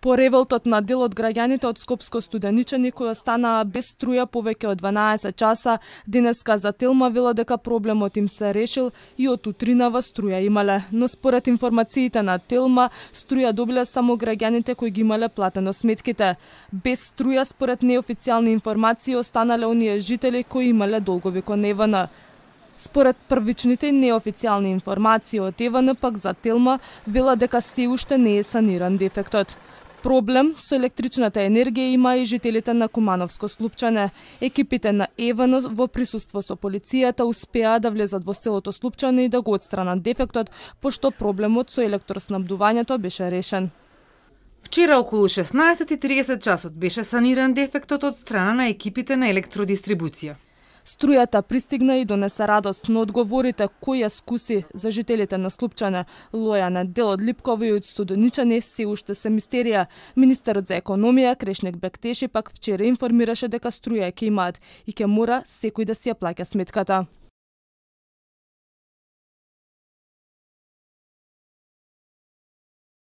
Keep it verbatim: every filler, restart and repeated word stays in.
По револтот на дел од граѓаните од Скопско Студеничани кои останаа без струја повеќе од дванаесет часа, денеска за Телма велат дека проблемот им се решил и од утринава струја имале. Но според информациите на Телма, струја добиле само граѓаните кои ги имале платено сметките. Без струја според неофицијални информации останале оние жители кои имале долгови кон Е В Н. Според првичните и неофицијални информации од Е В Н пак за Телма велат дека се уште не е саниран дефектот. Проблем со електричната енергија има и жителите на Кумановско Слупчане. Екипите на Е В Н во присуство со полицијата успеа да влезат во селото Слупчане и да го отстранат дефектот, пошто проблемот со електроснабдувањето беше решен. Вчера околу шеснаесет и тридесет часот беше саниран дефектот од страна на екипите на електродистрибуција. Струјата пристигна и донесе радост, но одговорите кој ја скуси за жителите на Слупчане, Лојане, дел од Липково и од Студеничани се уште се мистерија. Министерот за економија Крешник Бектеши пак вчера информираше дека струја ќе имаат и ќе мора секој да си ја плаќа сметката.